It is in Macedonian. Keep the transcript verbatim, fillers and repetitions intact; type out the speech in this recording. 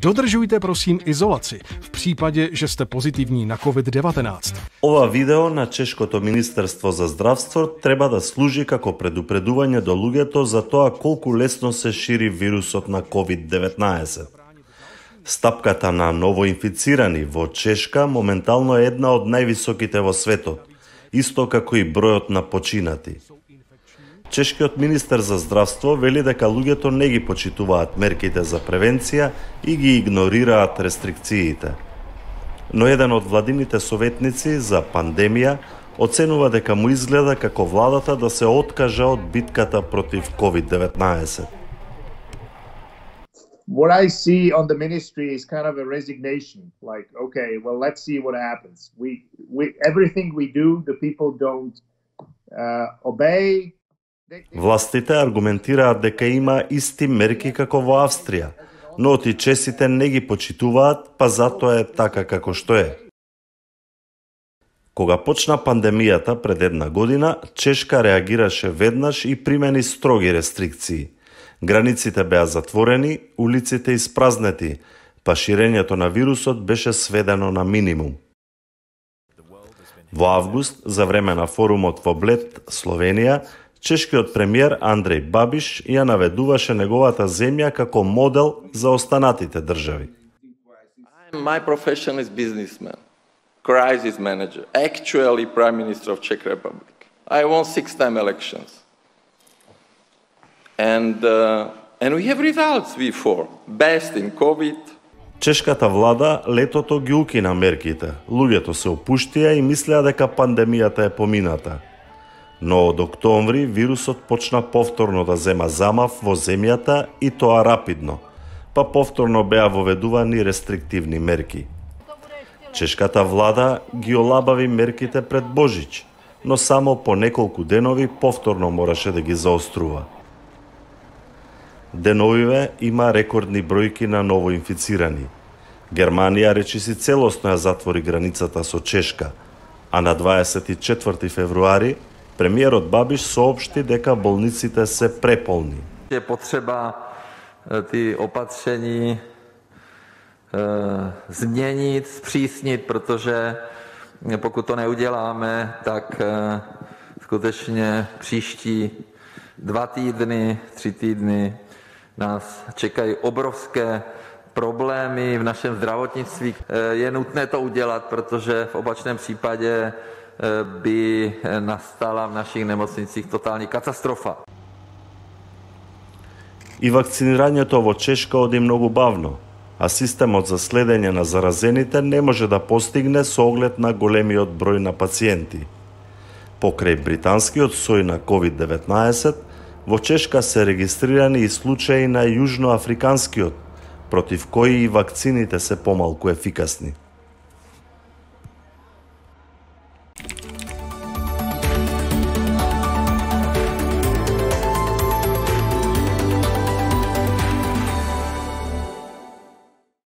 Dodržujte prosím izolaci v případě, že jste pozitivní na COVID devätnásť. Ова видео на Чешкото Министерство за здравство треба да служи како предупредување до луѓето за тоа колку лесно се шири вирусот на COVID деветнаесет. Стапката на новоинфицирани во Чешка моментално е една од највисоките во светот, исто како и бројот на починати. Чешкиот министер за здравство вели дека луѓето не ги почитуваат мерките за превенција и ги игнорираат рестрикциите. Но еден од владините советници за пандемија оценува дека му изгледа како владата да се откажа од битката против COVID деветнаесет. What I see on the ministry is kind of a resignation, like, okay, well, let's see what happens. We, we, everything we do, the people don't uh, obey. Властите аргументираат дека има исти мерки како во Австрија, но отичесите не ги почитуваат, па затоа е така како што е. Кога почна пандемијата пред една година, Чешка реагираше веднаш и примени строги рестрикции. Границите беа затворени, улиците испразнети, па ширењето на вирусот беше сведено на минимум. Во август, за време на форумот во Блед, Словенија, чешкиот премиер Андреј Бабиш ја наведуваше неговата земја како модел за останатите држави. My profession is businessman, crisis manager, actually Prime Minister of Czech Republic. I won six-time elections. And, uh, and we have results before. Best in COVID. Чешката влада летото ги укина мерките. Луѓето се опуштија и мислеа дека пандемијата е помината. Но од октомври вирусот почна повторно да зема замав во земјата и тоа рапидно, па повторно беа воведувани рестриктивни мерки. Чешката влада ги олабави мерките пред Божич, но само по неколку денови повторно мораше да ги заострува. Деновиве има рекордни бројки на новоинфицирани. Германија речиси целосно ја затвори границата со Чешка, а на дваесет и четврти февруари премиерот Бабиш соопшти дека болниците се преполни. Je potřeba ty opatření e, změnit, zpřísnit, protože pokud to neuděláme, tak e, skutečně příští dva týdny, tři týdny nás čekají obrovské problémy v našem zdravotnictví. Je nutné to udělat, protože v opačném případě by nastala v našich nemocnicích totální katastrofa. И вакцинирањето во Чешка оди многу бавно, а системот за следење на заразените не може да постигне со оглед на големиот број на пациенти. Покрај британскиот сој на COVID деветнаесет, во Чешка се регистрирани и случаи на јужноафриканскиот, против кои и вакцините се помалку ефикасни.